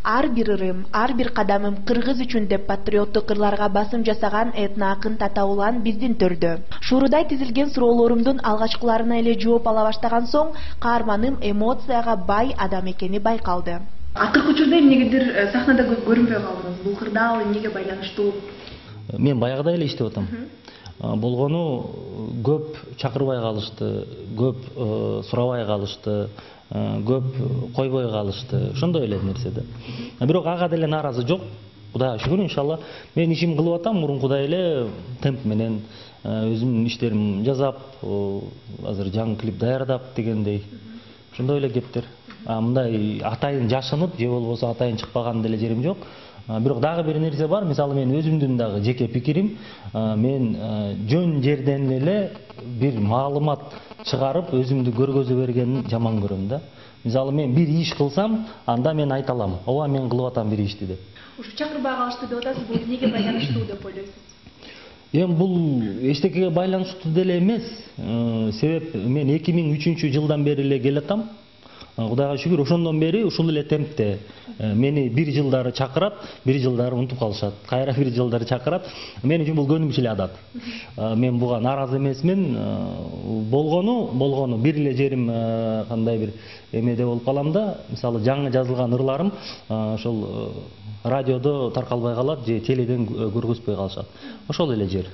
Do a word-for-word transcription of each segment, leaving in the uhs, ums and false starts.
Ар бир ырым, ар бир кадамым кыргыз үчүн деп патриоттук ырларга басым жасаган этно акын Тата Улан биздин төрдө. Шуурудай тизилген суроолорумдун алгачкыларына эле жооп ала баштаган соң, каарманым эмоцияга бай адам экени байкалды. Акыркы учурда эмнегедир сахнада көрүнбөй калдыңыз. Бул кырдаал эмнеге байланыштуу? Мен баягыда эле иштеп атам. Болгону көп чакырбай калышты, көп сурабай калышты, көп койбой калышты. Ошондой эле нерсе да. Бирок ага деле нааразы жок. Кудайга шүгүр, иншалла. Мен ишим кылып атам, мурункудай эле темп менен өзүмдүн иштерим жасап, азыр жаңы клип даярдап дегендей. Ошондой эле кептер. Мындай атайын жашынып, же болбосо атайын чыкпаган деле жерим жок. Бирок дагы бир нерсе бар. Мисалы мен өзүмдүн дагы жеке пикирим, мен жөн жерден эле бир маалымат чыгарып, өзүмдү көргөзө бергенин жаман көрөм да. Мисалы мен бир иш кылсам, анда мен айта алам. Ооба мен кылып атам бир ишти деп. Ушу чакырбай калышты деп атасыз, бул эмнеге байланыштуу деп ойлойсуз? Эми бул эчтекеге байланыштуу деле эмес. Себеп мен эки миң үчүнчү жылдан бери эле келатам. Кудайга шүгүр, ошондон бери ушул эле темпте мени бир жылдары чакырат, бир жылдары унутуп калышат. Кайра бир жылдары чакырат. Мен үчүн бул көнүмүш эле адат. Мен буга нааразы эмесмин. Болгону, болгону бир эле жерим кандай бир эмеде болуп калам да. Мисалы жаңы жазылган ырларым ошол радиодо таркалбай калат же теледен көргөзбөй калышат. Ошол эле жер.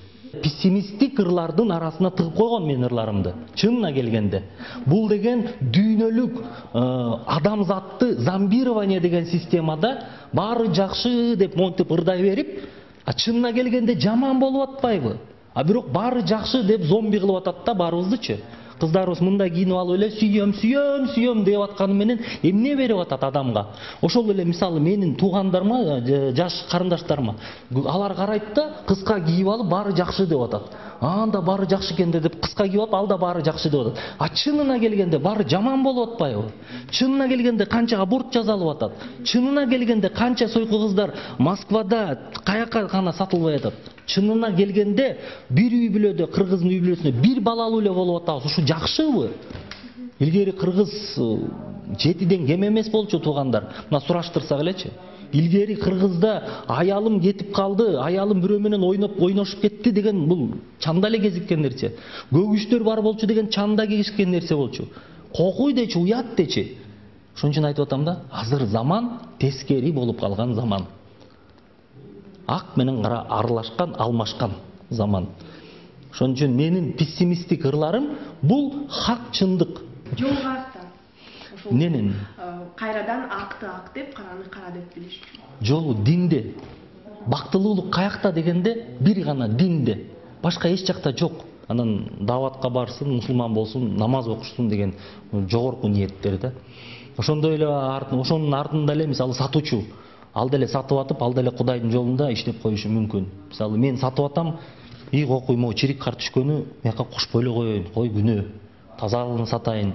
Пессимисттик ырлардын арасына тыгып койгон мен ырларымды. Чынына келгенде. Бул деген дүйнөлүк адамзатты зомбирование деген системада баары жакшы деп монтип ырдай берип, а чынына келгенде жаман болуп атпайбы? А бирок баары жакшы деп зомби кылып атат да баарыбыздычы. Кыздарыбыз мындай кийинип алып эле сүйөм, сүйөм, сүйөм деп атканы менен эмне берип атат адамга? Ошол эле мисалы менин туугандарыма, жаш карындаштарыма, алар карайт да, кыска кийип алып баары жакшы деп атат. Анда баары жакшы экен деп кыска кийип алып, ал да баары жакшы деп атат. А чынына келгенде баары жаман болуп атпайбы? Чынына келгенде канча аборт жасалып атат? Чынына келгенде канча сойку кыздар Москвада каяка гана сатылбай атат? Чынына келгенде бир үй бүлөдө, кыргыздын үй бүлөсүндө бир балалуу эле болуп атабыз. Ушу жакшыбы? Илгери кыргыз жетиден кем эмес болчу туугандар. Мына сураштырсак элечи. Илгери кыргызда аялым кетип калды, аялым бирөө менен ойноп ойношуп кетти деген бул чанда эле кезиккен нерсе. Көгүчтөр бар болчу деген чанда кезиккен нерсе болчу. Кокуй дечи, уят дечи. Ошон үчүн айтып атам да, азыр заман тескери болуп калган заман. Ак менен кара аралашкан, алмашкан заман. Ошон үчүн менин пессимисттик ырларым бул хак, чындык. Жолго акта. Ошол Ненин? Кайрадан акты ак деп, караны кара деп билиш үчүн. Жолу динде. Бактылуулук каякта дегенде бир гана динде. Башка эч жакта жок. Анан даватка барсын, мусулман болсун, намаз окушсун деген жогорку ниеттер да. Ошондой эле ошонун артында эле мисалы сатуучу. Ал деле сатып атып, ал деле Кудайдын жолунда иштеп коюшу мүмкүн. Мисалы мен сатып атам, ий кокуй могу чирик кар түшкөнү мияка кошпой эле коеюн, кой күнөө. Тазалыгын сатайын.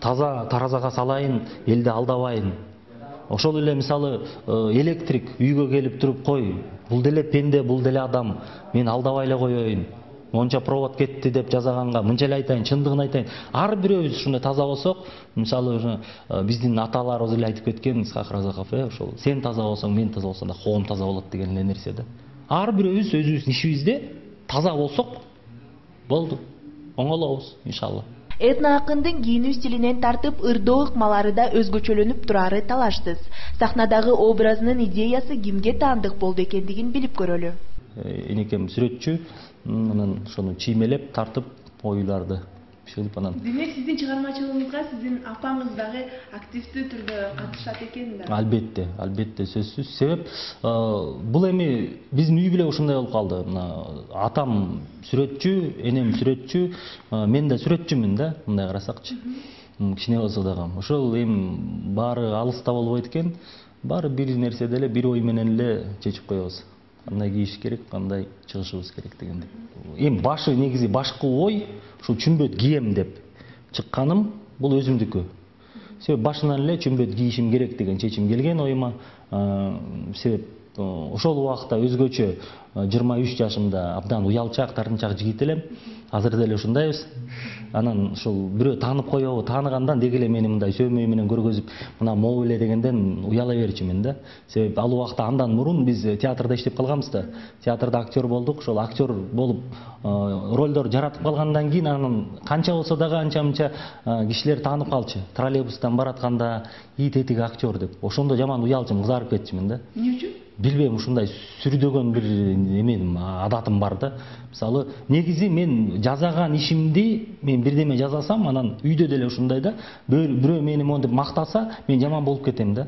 Таза таразага салайын, элди алдабайын. Ошол эле мисалы электрик үйгө келип туруп, кой, бул деле пенде, бул деле адам. Мен алдабай эле коеюн. Монча провод кетти деп жазаганга мынча эле айтайын, чындыгын айтайын. Ар бирөөбүз ушундай таза болсок, мисалы биздин аталарыбыз эле айтып кеткен, Исхак Разаков, ошол сен таза болсоң, мен таза болсом да коом таза болот деген эле нерсе да. Ар бирөөбүз өзүбүздүн ишибизде таза болсок болду. Оңолобуз, иншалла. Этно акындын кийинүү стилинен тартып ырдоо ыкмалары да өзгөчөлөнүп турары талаштыс. Сахнадагы образынын идеясы кимге таандык болду экендигин билип көрөлү. Энекем сүрөтчү, анан ошону чиймелеп, тартып, оюларды чыгып анан. Демек сиздин чыгармачылыгыңызга сиздин апаңыз дагы активдүү түрдө катышат экен да. Албетте, албетте сөзсүз. Себеп бул эми биздин үй бүлө ушундай болуп калды. Атам сүрөтчү, энем сүрөтчү, мен да сүрөтчүмүн да, мындай карасакчы. Кичине болсо дагы. Ошол эми баары алыста болбойт экен. Баары бир нерседе эле, бир ой менен эле чечип коебуз. Кандай кийиш керек, кандай чыгышыбыз керек дегенде. Эми башы негизи башкы ой ушул чүмбөт кийем деп чыкканым бул өзүмдүкү. Себеп башынан эле чүмбөт кийишим керек деген чечим келген оюма. Себеп ошол убакта өзгөчө жыйырма үч жашымда абдан уялчак, тартынчак жигит элем. Азыр деле ушундайбыз. Анан ушул бирөө таанып коебу, тааныгандан деги эле мени мындай сөймөй менен көргөзүп, мына могу эле дегенден уяла берчүмүн да. Себеби ал убакта андан мурун биз театрда иштеп калганбыз да. Театрда актер болдук. Ошол актер болуп ролдор жаратып калгандан кийин анан канча болсо дагы анча-мынча кишилер таанып калчу. Троллейбустан баратканда ит этиги актер деп. Ошондо жаман уялчумун, кызарып кетчүмүн да. Эмне үчүн? Билбейм, ушундай сүрдөгөн бир эмем, адатым бар да. Мисалы, негизи мен жазаган ишимди мен бирдеме жазасам, анан үйдө деле ушундай да. Бирөө мени монтип мактаса, мен жаман болуп кетем да.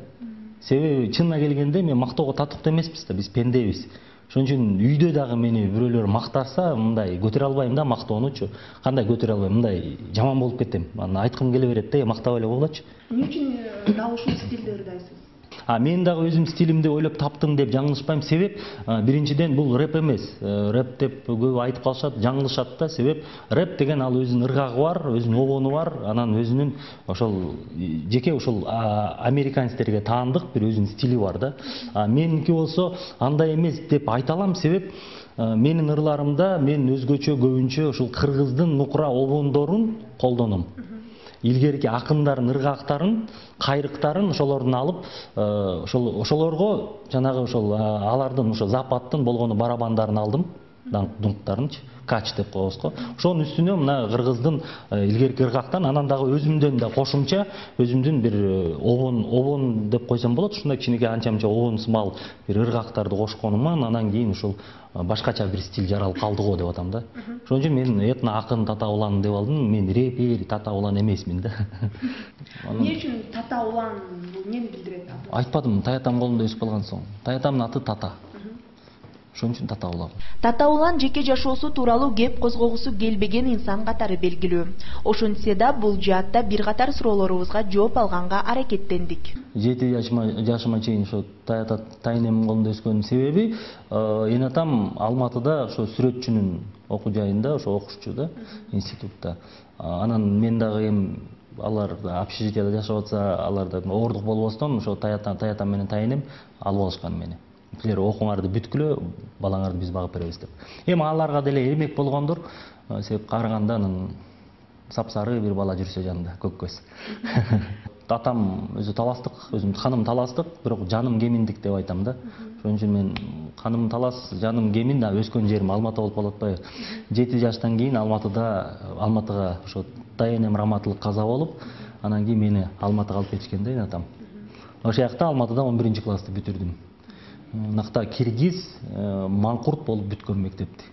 Себеби чынына келгенде мен мактоого татыктуу эмеспиз да, биз пендебиз. Ошон үчүн үйдө дагы мени бирөөлөр мактаса, мындай көтөрө албайм да мактоонучу. Кандай көтөрө албайм, мындай жаман болуп кетем. Анан айткым келе берет да, мактап эле койгулачы. Эмне үчүн дал ушул стилди ырдайсыз? А мен дагы өзүм стилимди ойлоп таптым деп жаңылышпайм. Себеп биринчиден бул рэп эмес. Рэп деп көп айтып калышат, жаңылышат да. Себеп рэп деген ал өзүнүн ыргагы бар, өзүнүн обону бар, анан өзүнүн ошол жеке ошол американецтерге таандык бир өзүнүн стили бар да. А меники болсо андай эмес деп айта алам. Себеп менин ырларымда мен өзгөчө көбүнчө ушул кыргыздын нукура обондорун колдоном. Илгерки акындардын ыргактарын, кайрыктарын ошолордун алып, ошол ошолорго жанагы ошол алардын ошо западтын болгону барабандарын алдым, дунктарынчы, кач деп коебуз го. Ошонун үстүнө мына кыргыздын илгерки ыргактан, анан дагы өзүмдөн да кошумча өзүмдүн бир обон, обон деп койсом болот, ушундай кичинекей анча-мынча обон сымал бир ыргактарды кошконуман, анан кийин ушул башкача бир стиль жаралып калды го деп атам да. Ошон үчүн мен этно акын Тата Улан деп алдым. Мен репер Тата Улан эмесмин да. Эмне үчүн Тата Улан бул эмнени билдирет? Айтпадым, таятам колунда өсүп калган соң. Таятамдын аты Тата. Ошон үчүн Тата Улан. Тата Улан жеке жашоосу тууралуу кеп козгогусу келбеген инсан катары белгилүү. Ошентсе да бул жаатта бир катар суроолорубузга жооп алганга аракеттендик. жети жашыма чейин ошо таята тайнемдин колунда өскөнүн себеби эне атам Алматыда ошо сүрөтчүнүн окуу жайында ошо окушчу да, институтта. Анан мен дагы эми алар общежитияда жашап атса, аларда оордук болбостон ошо таятам таятам менен тайнем алып алышкан мени. Силер окуңарды бүткүлө, балаңарды биз багып беребиз деп. Эми аларга деле эмек болгондур, себеп караганда анан сапсары бир бала жүрсө жанында, көк көз. Атам өзү таластык, өзүм ханым таластык, бирок жаным кеминдик деп айтам да. Ошон үчүн мен ханым талас, жаным кемин, да өскөн жерим Алматы болуп калып атпайбы. жети жаштан кийин Алматыда, Алматыга ошо тайенем раматылык каза болуп, анан кийин мени Алматыга алып кетишкен да эне атам. Ошол жакта Алматыда он биринчи классты бүтүрдүм. Накта киргиз, маңкурт болуп бүткөн мектепти.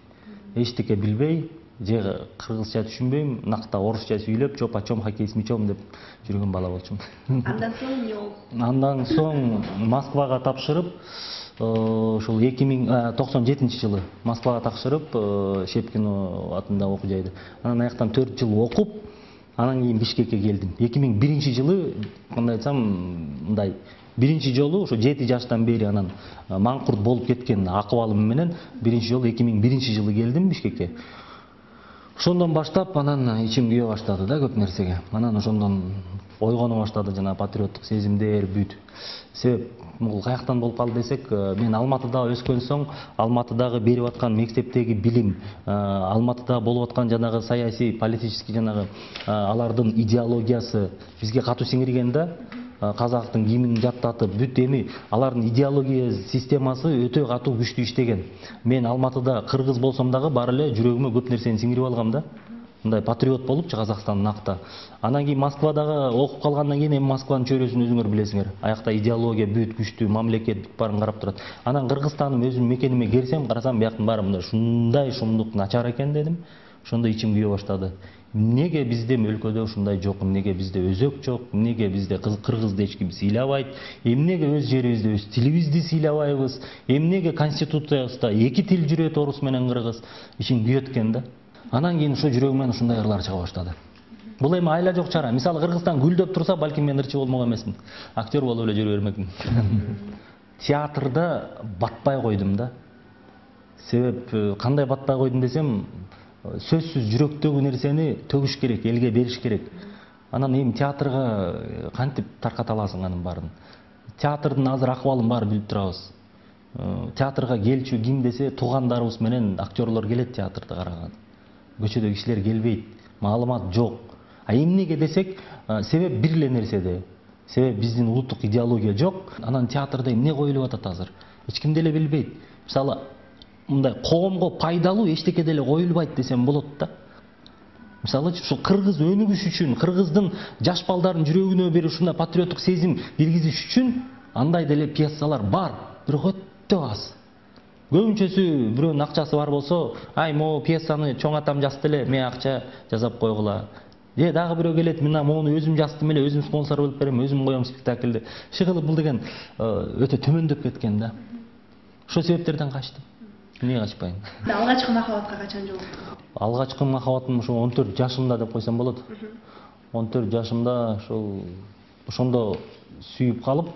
Эчтеке билбей, же кыргызча түшүнбөйм, накта орусча сүйлөп, чопа-чом, хоккей с мячом деп жүргөн бала болчумун. Андан соң эмне болду? Андан соң Москвага тапшырып, ошол эки миң токсон жетинчи жылы Москвага тапшырып, Шепкино атында окуу жайды. Анан аяктан төрт жыл окуп, анан кийин Бишкекке келдим. эки миң биринчи жылы, кандай айтсам, мындай биринчи жолу ошо жети жаштан бери анан маңкурт болуп кеткен акыбалым менен биринчи жолу эки миң биринчи жылы келдим Бишкекке. Ошондон баштап анан ичим күйө баштады да көп нерсеге. Анан ошондон ойгоно баштады жана патриоттук сезимдер бүт. Себеп бул каяктан болуп калды десек, мен Алматыда өскөн соң, Алматыдагы берип аткан мектептеги билим, Алматыда болуп аткан жанагы саясий, политический жанагы алардын идеологиясы бизге катуу сиңирген да. Казактын гимнин жаттатып, бүт эми алардын идеология системасы өтө катуу күчтүү иштеген. Мен Алматыда кыргыз болсом дагы бары эле жүрөгүмө көп нерсени сиңирип алгам да. Мындай патриот болупчу Казакстандын акта. Анан кийин Москвадагы окуп калгандан кийин эми Москванын чөйрөсүн өзүңөр билесиңер. Аякта идеология бүт күчтүү, мамлекет бүт баарын карап турат. Анан Кыргызстаным өзүмдүн мекениме келсем, карасам бияктын баары мындай ушундай шумдук начар экен дедим. Ошондо ичим күйө баштады. Эмнеге бизде өлкөдө ушундай жок, эмнеге бизде өзөк жок, эмнеге бизде кыргызды эч ким сыйлабайт, эмнеге өз жерибизде өз тилибизди сыйлабайбыз, эмнеге конституциябызда эки тил жүрөт, орус менен кыргыз, ичим күйөт экен да. Анан кийин ошо жүрөгүмөн ушундай ырлар чыга баштады. Бул эми айла жок чара. Мисалы Кыргызстан гүлдөп турса, балким мен ырчы болмок эмесмин. Актер болуп эле жүрө бермекмин. Театрда батпай койдум да. Себеп кандай батпай койдум десем, сөзсүз жүрөктөгү нерсени төгүш керек, элге бериш керек. Анан эми театрга кантип тарката аласың анын баарын? Театрдын азыр акыбалын баары билип турабыз. театрга келчү ким десе туугандарыбыз менен актерлор келет театрды караган. Көчөдө кишилер келбейт, маалымат жок. А эмнеге десек, себеп бир эле нерседе. Себеп биздин улуттук идеология жок. Анан театрда эмне коюлуп атат азыр? Эч ким деле билбейт. Мисалы, мындай коомго пайдалуу эчтеке деле коюлбайт десем болот да. Мисалы, ушу кыргыз өнүгүш үчүн, кыргыздын жаш балдардын жүрөгүнө бир ушундай патриоттук сезим киргизиш үчүн андай деле пьесалар бар, бирок өтө аз. Көбүнчөсү бирөөнүн акчасы бар болсо, ай могу пьесаны чоң атам жазды эле, мен акча жасап койгула. Же дагы бирөө келет, мен мону өзүм жаздым эле, өзүм спонсор болуп берем, өзүм коем спектакльди. Иши кылып бул деген өтө төмөндөп кеткен да. Ошол себептерден качтым. Эмне качпайм? Алгачкы махабатка качан жолуктуңуз? Алгачкы махабатым ошо он төрт жашымда деп койсом болот. он төрт жашымда ошол ошондо сүйүп калып,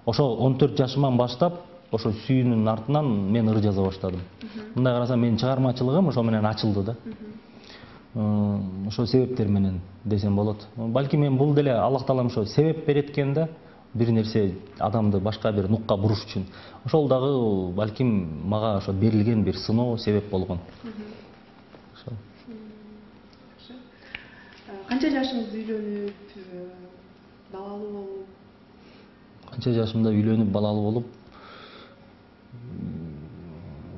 ошол он төрт жашыман баштап ошо сүйүүнүн артынан мен ыр жаза баштадым. Мындай карасам менин чыгармачылыгым ошо менен ачылды да. Ошол себептер менен десем болот. Балки мен бул деле Аллах таалам ошо себеп берет экен да, бир нерсе адамды башка бир нукка буруш үчүн. Ошол дагы балким мага ошо берилген бир сыноо себеп болгон. Ошо. Канча жашыңызда үйлөнүп, балалуу болуп? Канча жашымда үйлөнүп, балалуу болуп?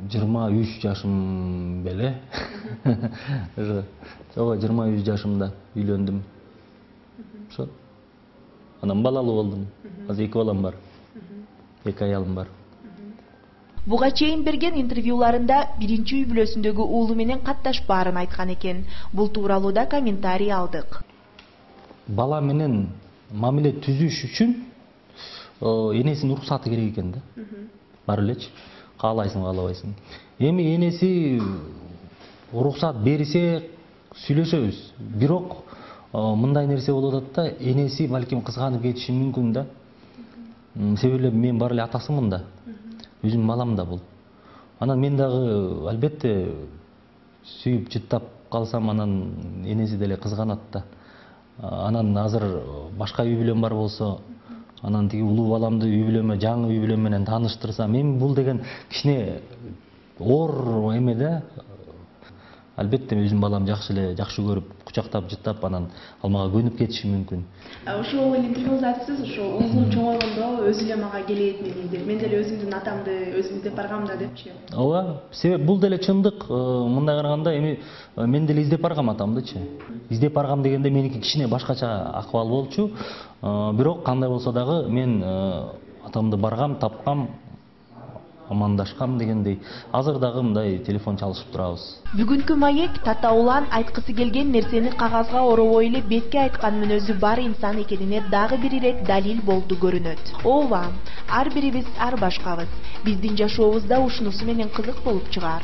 жыйырма үч жашым беле. Ошо жыйырма үч жашымда үйлөндүм. Ошо. Анан балалуу болдум. Азыр эки балам бар. Эки аялым бар. Буга чейин берген интервьюларында биринчи үй бүлөсүндөгү уулу менен катташпаарын айткан экен. Бул тууралуу да комментарий алдык. Бала менен мамиле түзүш үчүн энесинин уруксаты керек экен да. Бар элечи. Каалайсың, каалабайсың. Эми энеси уруксат берсе сүйлөшөбүз. Бирок мындай нерсе болуп атат да, энеси балким кызганып кетиши мүмкүн да. Себеби мен бар эле атасымын да. Өзүм балам да бул. Анан мен дагы албетте сүйүп жыттап калсам, анан энеси деле кызганат да. Анан азыр башка үй бүлөм бар болсо, анан тиги улуу баламды үй бүлөмө, жаңы үй бүлөм менен тааныштырсам, эми бул деген кичине оор эме да. Албетте өзүм балам жакшы эле, жакшы көрүп, кучактап, жыттап, анан ал мага көнүп кетиши мүмкүн. Ошол интервьюңузда айтасыз, ошо уулум чоңойгондо өзү эле мага келет мени деп, мен деле өзүмдүн атамды өзүм издеп баргам да депчи. Ооба, себеп бул деле чындык. Мындай караганда эми мен деле издеп баргам атамдычы. Издеп баргам дегенде меники кичине башкача акыбал болчу. Бирок кандай болсо дагы мен атамды баргам, тапкам, амандашкам дегендей. Азыр дагы мындай телефон чалышып турабыз. Бүгүнкү маек татаулан айткысы келген нерсени кагазга оробой эле бетке айткан мүнөзү бар инсан экенине дагы бир ирет далил болду көрүнөт. Ооба, ар бирибиз ар башкабыз. Биздин жашообуз да ушунусу менен кызык болуп чыгаар.